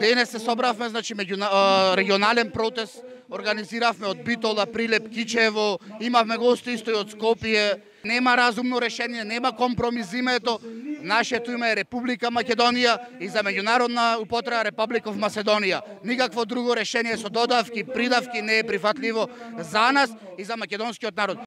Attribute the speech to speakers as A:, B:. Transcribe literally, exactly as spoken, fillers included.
A: денес се собравме, значи меѓу регионален протест, организиравме од Битола, Прилеп, Кичево, имавме гости исто и од Скопје. Нема разумно решение, нема компромис, името. Нашето име е Република Македонија и за меѓународна употреба Република в Македонија. Никакво друго решение со додавки, придавки не е прифатливо за нас и за македонскиот народ.